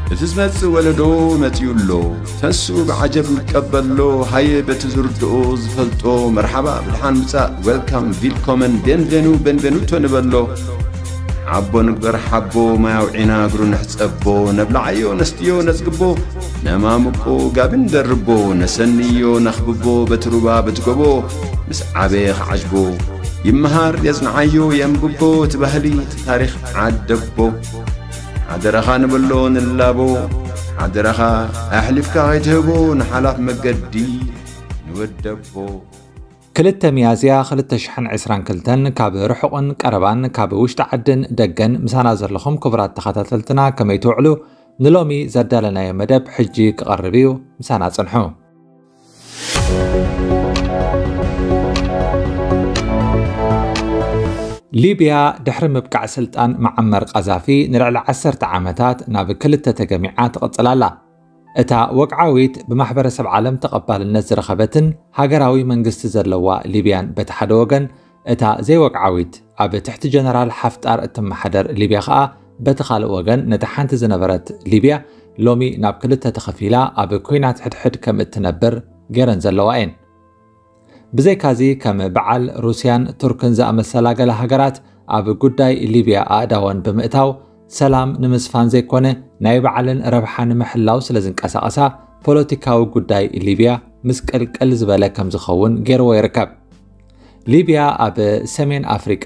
እቲ ዝመጽእ ወለዶ መጺኡ ኣሎ። ተንስኡ ብዓጀብ ንቀበሎ። ሃየ በቲ ዝርድኦ ዝፈልጦ መርሓባ ብድሓን ምጻእ፣ ዌልካም፣ ቪልኮመን፣ ቤንቬኑ፣ ቤንቬኑቶ ንበሎ። ዓቦ ንግበር ሓቦ፣ ማይ ኣውዒና እግሩ ንሕጸቦ። ነብልዓዮ ነስትዮ ነጽግቦ፣ ነማምቆ ጋቢ ንደርቦ። ነሰንዮ ነኽብቦ በቲ ሩባ በቲ ጎቦ። ምስ ዓበየ ክዓጅቦ ይመሃር የጽንዓዮ የንብቦ። እቲ ባህሊ እቲ ታሪኽ ዓደቦ። ሓደራኻ ንበሎ ንላቦ። ሓደራኻ ኣሕሊፍካ ከይትህቦ ንሓላፍ መገዲ ንወደቦ። ክልተ ሚያዝያ ክልተ ሽሕን ዕስራን ክልተን ካብ ርሑቕን ቀረባን ካብ ውሽጢ ዓድን ደገን ምሳና ዘለኹም ክቡራት ተኸታተልትና ከመይ ትውዕሉ? ንሎሚ ዘዳለናዮ መደብ ሕጂ ክቐርብ እዩ። ምሳና ጽንሑ። ሊብያ ድሕሪ ምብቃዕ ስልጣን መዓመር ቃዛፊ ንልዕሊ ዓሰርተ ዓመታት ናብ ክልተ ተገሚዓ ትቕጽል ኣላ። እታ ወግዓዊት ብማሕበረሰብ ዓለም ተቐባልነት ዝረኸበትን ሃገራዊ መንግስቲ ዘለዋ ሊብያን በቲ ሓደ ወገን፣ እታ ዘይወግዓዊት ኣብ ትሕቲ ጀነራል ሓፍጣር እትመሓደር ሊብያ ከኣ በቲ ካልእ ወገን ነታ ሓንቲ ዝነበረት ሊብያ ሎሚ ናብ ክልተ ተኸፊላ ኣብ ኲናት ሕድሕድ ከም እትነብር ገይረን ዘለዋ እየን። ብዘይካዚ ከም በዓል ሩስያን ቱርክን ዝኣመሰላ ገለ ሃገራት ኣብ ጉዳይ ሊብያ ኣእዳወን ብምእታው ሰላም ንምስፋን ዘይኮነ ናይ ባዕለን ረብሓ ንምሕላው ስለ ዝንቀሳቐሳ ፖለቲካዊ ጉዳይ ሊብያ ምስቅልቅል ዝበለ ከም ዝኸውን ገይርዎ ይርከብ። ሊብያ ኣብ ሰሜን ኣፍሪቃ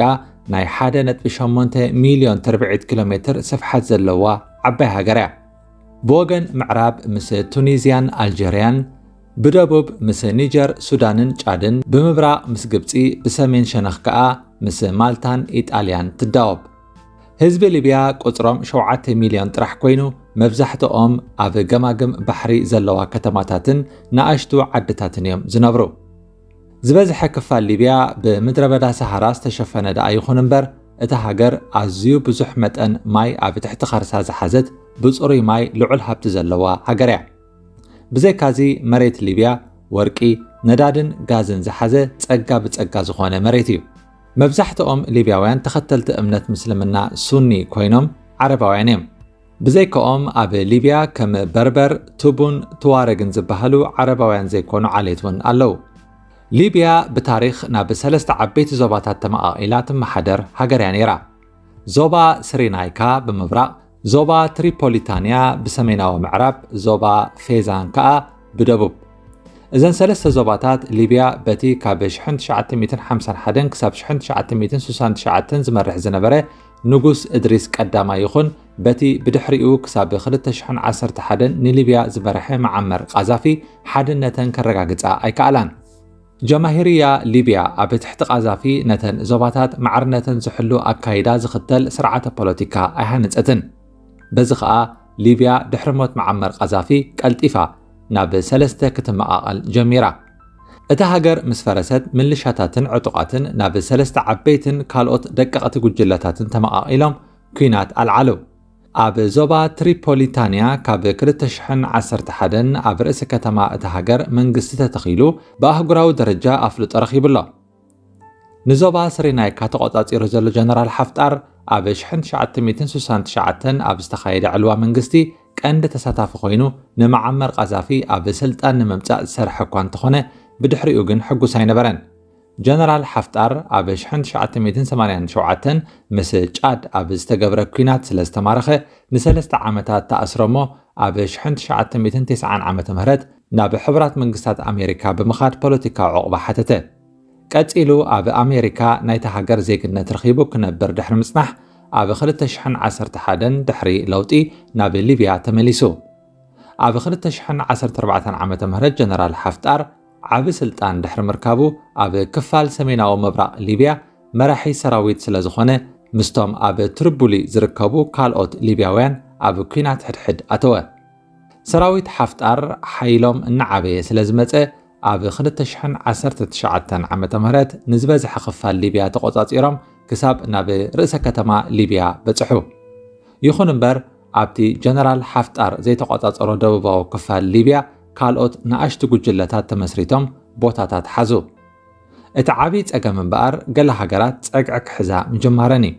ናይ ሓደ ነጥቢ ሸሞንተ ሚልዮን ትርብዒት ኪሎ ሜትር ስፍሓት ዘለዋ ዓባይ ሃገር እያ። ብወገን ምዕራብ ምስ ቱኒዝያን ኣልጀርያን፣ ብደቡብ ምስ ኒጀር፣ ሱዳንን ጫድን፣ ብምብራቕ ምስ ግብጺ፣ ብሰሜን ሸነኽ ከኣ ምስ ማልታን ኢጣልያን ትዳወብ። ህዝቢ ሊብያ ቁጽሮም ሸውዓተ ሚልዮን ጥራሕ ኮይኑ፣ መብዛሕትኦም ኣብ ገማግም ባሕሪ ዘለዋ ከተማታትን ንኣሽቱ ዓድታትን እዮም ዝነብሩ። ዝበዝሐ ክፋል ሊብያ ብምድረ በዳ ሰሃራ ዝተሸፈነ ደኣ ይኹን እምበር፣ እታ ሃገር ኣዝዩ ብዙሕ መጠን ማይ ኣብ ትሕቲ ከርሳ ዝሓዘት ብጽሩይ ማይ ልዑል ሃብቲ ዘለዋ ሃገር እያ። ብዘይካዚ መሬት ሊብያ ወርቂ፣ ነዳድን ጋዝን ዝሓዘ ጸጋ ብጸጋ ዝኾነ መሬት እዩ። መብዛሕትኦም ሊብያውያን ተኸተልቲ እምነት ምስልምና ሱኒ ኮይኖም ዓረባውያን እዮም። ብዘይካኦም ኣብ ሊብያ ከም በርበር፣ ቱቡን ትዋረግን ዝበሃሉ ዓረባውያን ዘይኮኑ ዓሌት እውን ኣለዉ። ሊብያ ብታሪኽ ናብ ሰለስተ ዓበይቲ ዞባታት ተመቓቒላ ትመሓደር ሃገር እያ ነይራ። ዞባ ስሪናይካ ብምብራቕ፣ ዞባ ትሪፖሊታንያ ብሰሜናዊ ምዕራብ፣ ዞባ ፌዛን ከኣ ብደቡብ። እዘን ሰለስተ ዞባታት ሊብያ በቲ ካብ ሽሕን ትሽዓተ ሚእትን ሓምሳን ሓደን ክሳብ ሽሕን ትሽዓተ ሚእትን ስሳን ትሽዓተን ዝመርሕ ዝነበረ ንጉስ እድሪስ ቀዳማይ ይኹን በቲ ብድሕሪኡ ክሳብ ክልተ ሽሕን ዓሰርተ ሓደን ንሊብያ ዝመርሐ መዓመር ቃዛፊ ሓድነተን ከረጋግጻ ኣይከኣላን። ጀማሂርያ ሊብያ ኣብ ትሕቲ ቃዛፊ ነተን ዞባታት ማዕርነተን ዝሕሉ ኣካይዳ ዝኽተል ስርዓተ ፖለቲካ ኣይሃነጸትን። በዚ ኸኣ ሊብያ ድሕሪ ሞት መዓመር ቃዛፊ ቀልጢፋ ናብ ሰለስተ ክትመቓቐል ጀሚራ። እታ ሃገር ምስ ፈረሰት ምልሻታትን ዕጡቓትን ናብ ሰለስተ ዓበይትን ካልኦት ደቀቕቲ ጉጅለታትን ተመቓቒሎም ኲናት ኣልዓሉ። ኣብ ዞባ ትሪፖሊታንያ ካብ ክልተ ሽሕን ዓሰርተ ሓደን ኣብ ርእሲ ከተማ እታ ሃገር መንግስቲ ተተኺሉ ብኣህጉራዊ ደረጃ ኣፍልጦ ረኺቡ ኣሎ። ንዞባ ስሪናይካ ተቖጻጺሩ ዘሎ ጀነራል ሓፍጣር ኣብ ሽሕን ትሽዓተ ሚእትን ስሳን ትሽዓተን ኣብ ዝተኻየደ ዕልዋ መንግስቲ ቀንዲ ተሳታፊ ኮይኑ ንመዓመር ቃዛፊ ኣብ ስልጣን ንምምጻእ ዝሰርሐ እኳ እንተኾነ ብድሕሪኡ ግን ሕጉስ ኣይነበረን። ጀነራል ሓፍጣር ኣብ ሽሕን ትሽዓተ ሚእትን ሰማንያን ሸውዓተን ምስ ጫድ ኣብ ዝተገብረ ኲናት ስለ ዝተማረኸ ንሰለስተ ዓመታት ተኣስረሞ ኣብ ሽሕን ትሽዓተ ሚእትን ተስዓን ዓመተ ምህረት ናብ ሕቡራት መንግስታት ኣሜሪካ ብምኻድ ፖለቲካዊ ዕቑባ ሓተተ። ቀጺሉ ኣብ ኣሜሪካ ናይታ ሃገር ዜግነት ረኺቡ ክነብር ድሕሪ ምጽናሕ ኣብ ክልተ ሽሕን ዓሰርተ ሓደን ድሕሪ ለውጢ ናብ ሊብያ ተመሊሱ። ኣብ ክልተ ሽሕን ዓሰርተ ኣርባዕተን ዓመተ ምህረት ጀነራል ሓፍጣር ዓቢ ስልጣን ድሕሪ ምርካቡ ኣብ ክፋል ሰሜናዊ ምብራቕ ሊብያ መራሒ ሰራዊት ስለ ዝኾነ ምስቶም ኣብ ትሪቡሊ ዝርከቡ ካልኦት ሊብያውያን ኣብ ኲናት ሕድሕድ ኣተወ። ሰራዊት ሓፍጣር ሓይሎም እናዓበየ ስለ ዝመጸ ኣብ ክልተ ሽሕን ዓሰርተ ትሽዓተን ዓመተ ምህረት ንዝበዝሐ ክፋል ሊብያ ተቖጻጺሮም ክሳብ ናብ ርእሰ ከተማ ሊብያ በጽሑ። ይኹን እምበር ኣብቲ ጀነራል ሓፍጣር ዘይተቖጻጸሮ ደቡባዊ ክፋል ሊብያ ካልኦት ንኣሽቱ ጉጅለታት ተመስሪቶም ቦታታት ሓዙ። እቲ ዓቢ ጸገም እምበኣር ገለ ሃገራት ጸግዒ ክሕዛ ምጅማረን እዩ።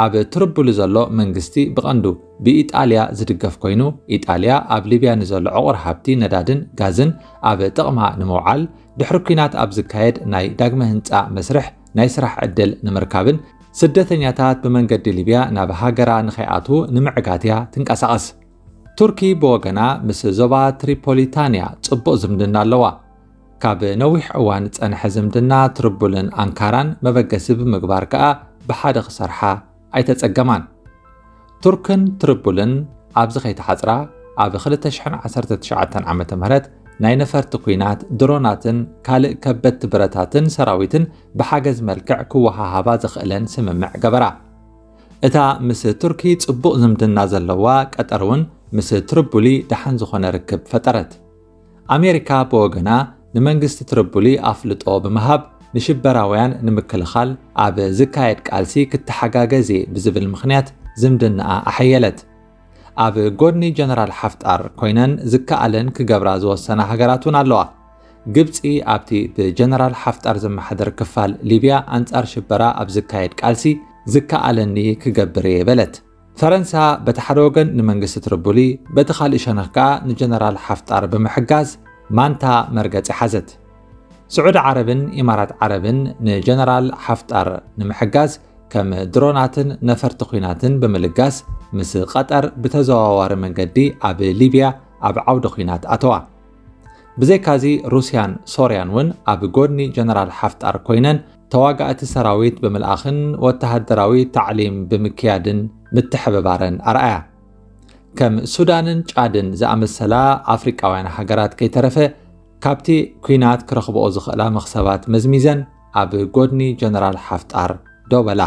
ኣብ ትርቡሊ ዘሎ መንግስቲ ብቐንዱ ብኢጣልያ ዝድገፍ ኮይኑ፣ ኢጣልያ ኣብ ሊብያ ንዘሎ ዕቑር ሃብቲ ነዳድን ጋዝን ኣብ ጥቕማ ንምውዓል፣ ድሕሪ ኲናት ኣብ ዝካየድ ናይ ዳግመ ህንጻ መስርሕ ናይ ስራሕ ዕድል ንምርካብን ስደተኛታት ብመንገዲ ሊብያ ናብ ሃገራ ንኸይኣትዉ ንምዕጋት እያ ትንቀሳቐስ። ቱርኪ ብወገና ምስ ዞባ ትሪፖሊታንያ ጽቡቕ ዝምድና ኣለዋ። ካብ ነዊሕ እዋን ዝጸንሐ ዝምድና ትርቡልን ኣንካራን መበገሲ ብምግባር ከኣ ብሓደ ክሰርሓ ኣይተጸገማን። ቱርክን ትርቡልን ኣብዚ ከይተሓጽራ፣ ኣብ ክልተ ሽሕን ዓሰርተ ትሽዓተን ዓመተ ምህረት ናይ ነፈርቲ ኲናት፣ ድሮናትን ካልእ ከበድቲ ብረታትን ሰራዊትን ብሓገዝ መልክዕ ክወሃሃባ ዘኽእለን ስምምዕ ገበራ። እታ ምስ ቱርኪ ጽቡቕ ዝምድና ዘለዋ ቀጠር እውን ምስ ትርቡሊ ደሓን ዝኾነ ርክብ ፈጠረት። ኣሜሪካ ብወገና ንመንግስቲ ትርቡሊ ኣፍልጦ ብምሃብ፣ ንሽበራውያን ንምክልኻል ኣብ ዝካየድ ቃልሲ ክትሓጋገዝ እየ ብዝብል ምኽንያት ዝምድናኣ ኣሐየለት። ኣብ ጎድኒ ጀነራል ሓፍጣር ኮይነን ዝከኣለን ክገብራ ዝወሰና ሃገራት እውን ኣለዋ። ግብጺ ኣብቲ ብጀነራል ሓፍጣር ዝመሓደር ክፋል ሊብያ ኣንጻር ሽበራ ኣብ ዝካየድ ቃልሲ ዝከኣለኒ ክገብር እየ በለት። ፈረንሳ በቲ ሓደ ወገን ንመንግስቲ ትርቡሊ፣ በቲ ካልእ ሸነኽ ከኣ ንጀነራል ሓፍጣር ብምሕጋዝ ማንታ መርገጺ ሓዘት። ስዑዲ ዓረብን ኢማራት ዓረብን ንጀነራል ሓፍጣር ንምሕጋዝ ከም ድሮናትን ነፈርቲ ኲናትን ብምልጋስ ምስ ቀጠር ብተዘዋዋሪ መንገዲ ኣብ ሊብያ ኣብ ዓውዲ ኲናት ኣተዋ። ብዘይካዚ ሩስያን ሶርያን እውን ኣብ ጎድኒ ጀነራል ሓፍጣር ኮይነን ተዋጋእቲ ሰራዊት ብምልኣኽን ወተሃደራዊ ታዕሊም ብምክያድን ምትሕብባረን ኣርኣያ። ከም ሱዳንን ጫድን ዝኣመሰላ ኣፍሪቃውያን ሃገራት ከይተረፈ ካብቲ ኲናት ክረኽብኦ ዝኽእላ መኽሰባት መዝሚዘን ኣብ ጎድኒ ጀነራል ሓፍጣር ደው በላ።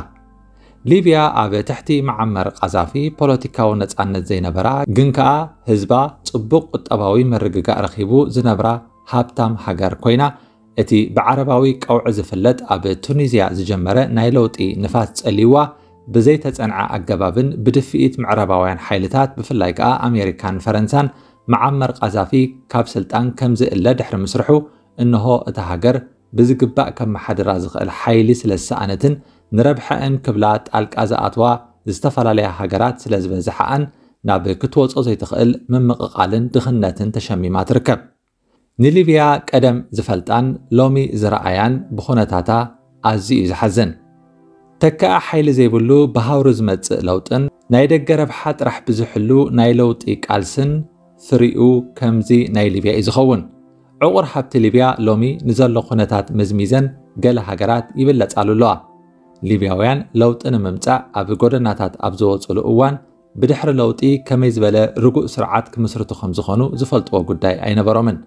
ሊብያ ኣብ ትሕቲ መዓመር ቃዛፊ ፖለቲካዊ ነጻነት ዘይነበራ፣ ግን ከኣ ህዝባ ጽቡቕ ቁጠባዊ ምርግጋእ ረኺቡ ዝነብራ ሃብታም ሃገር ኮይና፣ እቲ ብዓረባዊ ቀውዒ ዝፍለጥ ኣብ ቱኒዝያ ዝጀመረ ናይ ለውጢ ንፋስ ጸልይዋ ብዘይተጸንዐ ኣገባብን ብድፍኢት ምዕራባውያን ሓይልታት፣ ብፍላይ ከኣ ኣሜሪካን ፈረንሳን፣ መዓመር ቃዛፊ ካብ ስልጣን ከም ዝእለ ድሕሪ ምስርሑ፣ እንሆ እታ ሃገር ብዝግባእ ከመሓድራ ዝኽእል ሓይሊ ስለ ዝሰኣነትን ንረብሐአን ክብላ ጣልቃ ዝኣትዋ ዝተፈላለያ ሃገራት ስለ ዝበዝሓኣን ናብ ክትወጾ ዘይትኽእል ምምቕቓልን ድኽነትን ተሸሚማ ትርከብ። ንሊብያ ቀደም ዝፈልጣን ሎሚ ዝረኣያን ብኹነታታ ኣዝዩ እዩ ዝሓዝን። ተካኢ ሓይሊ ዘይብሉ ብሃውሪ ዝመጽእ ለውጥን ናይ ደገ ረብሓ ጥራሕ ብዝሕሉ ናይ ለውጢ ቃልስን ፍሪኡ ከምዚ ናይ ሊብያ እዩ ዝኸውን። ዕቑር ሃብቲ ሊብያ ሎሚ ንዘሎ ኩነታት መዝሚዘን ገለ ሃገራት ይብለጻሉ ኣለዋ። ሊብያውያን ለውጢ ንምምጻእ ኣብ ጎደናታት ኣብ ዝወጽሉ እዋን ብድሕሪ ለውጢ ከመይ ዝበለ ርጉእ ስርዓት ክምስርቱ ከም ዝኾኑ ዝፈልጥዎ ጉዳይ ኣይነበሮምን።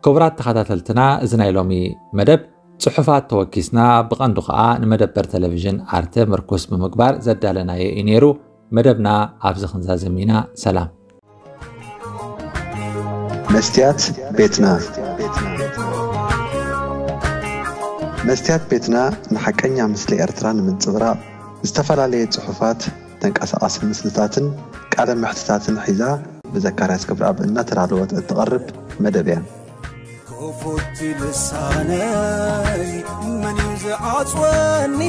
ክቡራት ተኸታተልትና፣ እዚ ናይ ሎሚ መደብ ጽሑፋት ተወኪስና፣ ብቐንዱ ኸኣ ንመደበር ቴሌቪዥን ኣርተ ምርኩስ ብምግባር ዘዳለናዮ እዩ ነይሩ። መደብና ኣብዚ ክንዛዝም ኢና። ሰላም። መስትያት ቤትና። መስትያት ቤትና ንሓቀኛ ምስሊ ኤርትራ ንምንጽብራቕ ዝተፈላለየ ጽሑፋት፣ ተንቀሳቓሲ ምስልታትን ቃለ መሕትታትን ሒዛ ብዘካርያስ ክብረኣብ እናተዳለወት እትቐርብ መደብ እያ። ክፉት ልሳነይ መን እዩ ዝዓጽወኒ?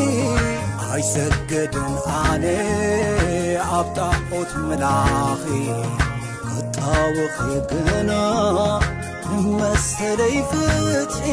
ኣይሰገድን ኣነ ኣብ ጣዖት ምላኺ፣ ክጣወኺ ግና ንመሰለይ ፍትሒ።